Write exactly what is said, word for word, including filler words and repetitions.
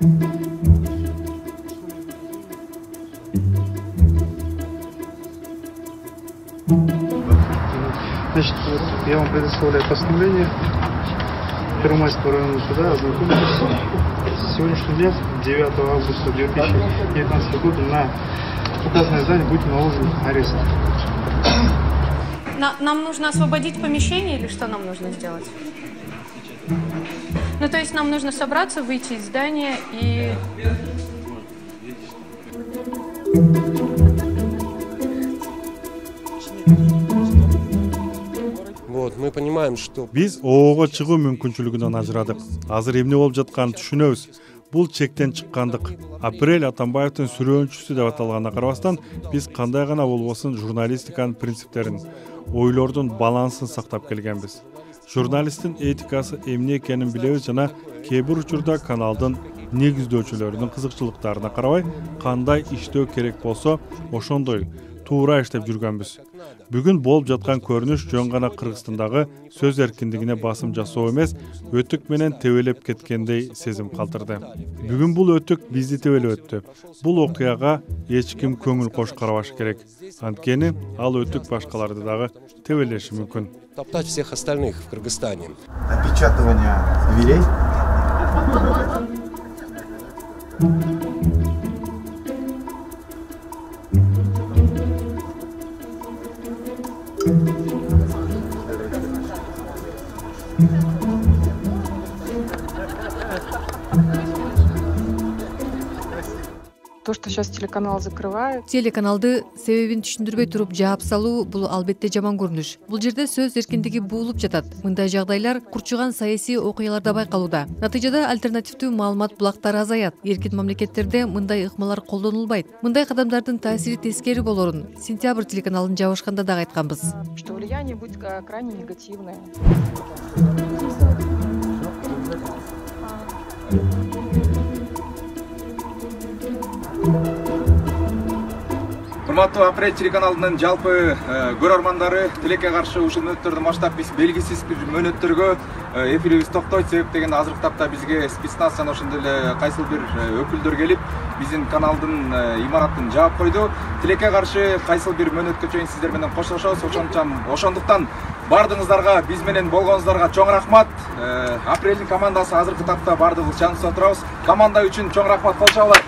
Значит, я вам предоставляю постановление Первомайского районного суда ознакомиться с сегодняшнего дня, девятого августа две тысячи девятнадцатого года, на указанное здание будет наложен арест. На, нам нужно освободить помещение или что нам нужно сделать? Ну, то есть нам нужно собраться, выйти из здания и... Вот, мы понимаем, что... Биз оого чыгуу мүмкүнчүлүгүнөн ажырадык. Азыр эмне болуп жатканын түшүнөбүз. Бул чектен чыккандык. Апрель Атамбаевдин сүрөөнчүсү деп аталганына карабастан, биз кандай гана болбосун журналистиканын принциптерин, ойлордун балансын сактап келгенбиз. Журналисттин этикасы эмне экенин билебиз жана кээ бир учурда каналдын негиздөөчүлөрүнүн кызыкчылыктарына карабай кандай иштөө керек болсо ошондой туура иштеп жүргөнбүз. Бүгүн болуп жаткан көрүнүш жөн гана Кыргызстандагы сөз эркиндигине басым жасоо эмес, өтүк менен тебелеп кеткендей сезим калтырды. Бүгүн бул өтүк бизди тебелеп өттү. Бул окуяга эч ким көңүл кош карабашы керек. Анткени ал өтүк башкаларды дагы тебелеши мүмкүн. Топтать всех остальных в Кыргызстане. Опечатывание дверей. То, что сейчас телеканал закрывают. Телеканалды себебин түшүндүрбөй туруп жаап салуу бул албетте жаман көрүнүш. Бул жерде сөз эркиндиги буулуп жатат. Мындай жагдайлар курчуган саясий окуяларда байкалууда. Натыйжада альтернативдүү маалымат булактары азаят. Эркин мамлекеттерде мындай ыкмалар колдонулбайт. Мындай кадамдардын таасири тескери болорун Сентябрь телеканалын жабышканда дагы айтканбыз. Что влияние будет крайне негативное. Урматтуу Апрель телеканалынын жалпы көрөрмандары, тилекке каршы ушул мөөнөттөрдү баштап биз белгисиз бир мөөнөттөргө эфирибиз токтойт. Себеп деген азыркы тапта бизге спецназ жана ошондой эле кайсыл бир өкүлдөр келип, биздин каналдын имаратын жаап койду. Тилекке каршы кайсыл бир мөөнөткө чейин сиздер менен коштошобуз. Ошондуктан бардыгыңыздарга, биз менен болгонуңуздарга чоң рахмат. Апрелдин командасы азыркы тапта бардыгыбыз жаныбызда турабыз. Команда үчүн чоң рахмат, кол чабуулар.